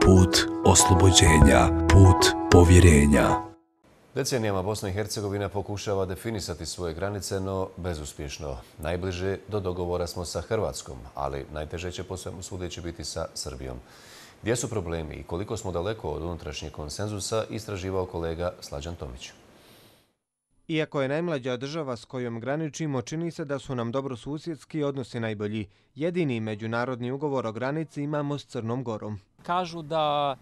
put oslobođenja, put povjerenja. Decenijama Bosna i Hercegovina pokušava definisati svoje granice, no bezuspješno. Najbliže do dogovora smo sa Hrvatskom, ali najteže će po svemu sudeći biti sa Srbijom. Gdje su problemi i koliko smo daleko od unutrašnjeg konsenzusa, istraživao kolega Slađan Tomić. Iako je najmlađa država s kojom graničimo, čini se da su nam dobrosusjedski odnosi najbolji. Jedini međunarodni ugovor o granici imamo s Crnom Gorom. Kažu da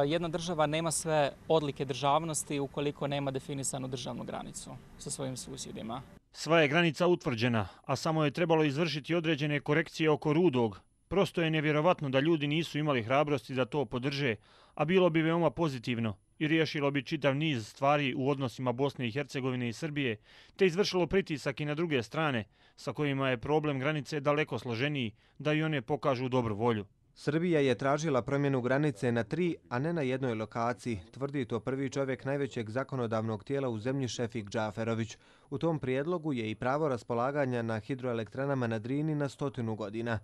jedna država nema sve odlike državnosti ukoliko nema definisanu državnu granicu sa svojim susjedima. Sva je granica utvrđena, a samo je trebalo izvršiti određene korekcije oko Rudog. Prosto je nevjerovatno da ljudi nisu imali hrabrosti da to podrže, a bilo bi veoma pozitivno i riješilo bi čitav niz stvari u odnosima Bosne i Hercegovine i Srbije, te izvršilo pritisak i na druge strane, sa kojima je problem granice daleko složeniji, da i one pokažu dobru volju. Srbija je tražila promjenu granice na 3, a ne na jednoj lokaciji, tvrdi to prvi čovjek najvećeg zakonodavnog tijela u zemlji Šefik Džaferović. U tom prijedlogu je i pravo raspolaganja na hidroelektranama na Drini na 100 godina.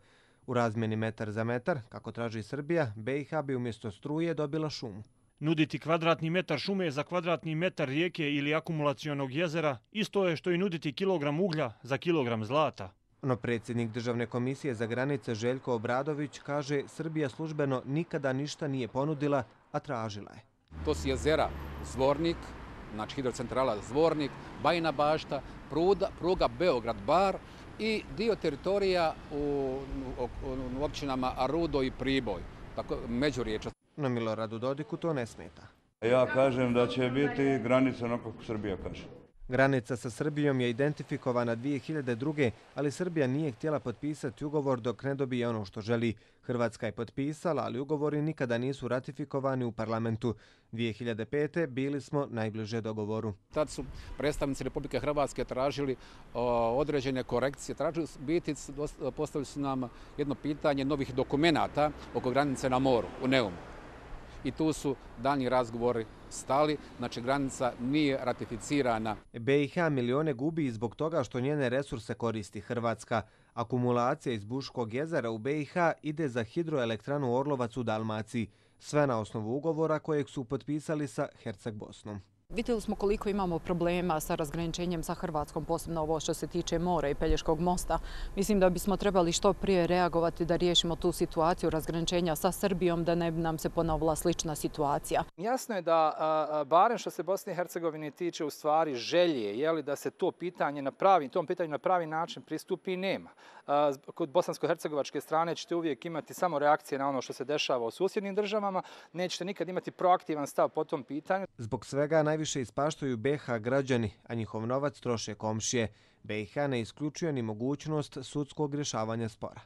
U razmjeni metar za metar, kako traži Srbija, BiH bi umjesto struje dobila šumu. Nuditi kvadratni metar šume za kvadratni metar rijeke ili akumulacionog jezera isto je što i nuditi kilogram uglja za kilogram zlata. No predsjednik Državne komisije za granice Željko Obradović kaže Srbija službeno nikada ništa nije ponudila, a tražila je. To su jezera Zvornik, znači hidrocentrala Zvornik, Bajina Bašta, pruga Beograd-Bar i dio teritorija u općinama Rudo i Priboj, tako međuriječa. No Miloradu Dodiku to ne smeta. Ja kažem da će biti granica onako kako Srbija kaže. Granica sa Srbijom je identifikovana 2002. ali Srbija nije htjela potpisati ugovor dok ne dobije ono što želi. Hrvatska je potpisala, ali ugovori nikada nisu ratifikovani u parlamentu. 2005. bili smo najbliže dogovoru. Tad su predstavnici Republike Hrvatske tražili određene korekcije, postavili su nam jedno pitanje novih dokumenata oko granice na moru, u Neumu. I tu su daljnji razgovori stali, znači granica nije ratificirana. BiH milijone gubi zbog toga što njene resurse koristi Hrvatska. Akumulacija iz Buškog jezera u BiH ide za hidroelektranu Orlovac u Dalmaciji, sve na osnovu ugovora kojeg su potpisali sa Herceg-Bosnom. Vidjeli smo koliko imamo problema sa razgraničenjem sa Hrvatskom, posebno ovo što se tiče mora i Pelješkog mosta. Mislim da bismo trebali što prije reagovati da riješimo tu situaciju razgraničenja sa Srbijom, da ne bi nam se ponovila slična situacija. Jasno je da, barem što se Bosne i Hercegovine tiče, u stvari želje da se tom pitanju na pravi način pristupi nema. Kod bosansko-hercegovačke strane ćete uvijek imati samo reakcije na ono što se dešava u susjednim državama, nećete nikad imati proaktivan stav po tom pitanju. Zbog svega najviše ispaštaju BiH građani, a njihov novac troše komšije. BiH ne isključuje ni mogućnost sudskog rješavanja spora.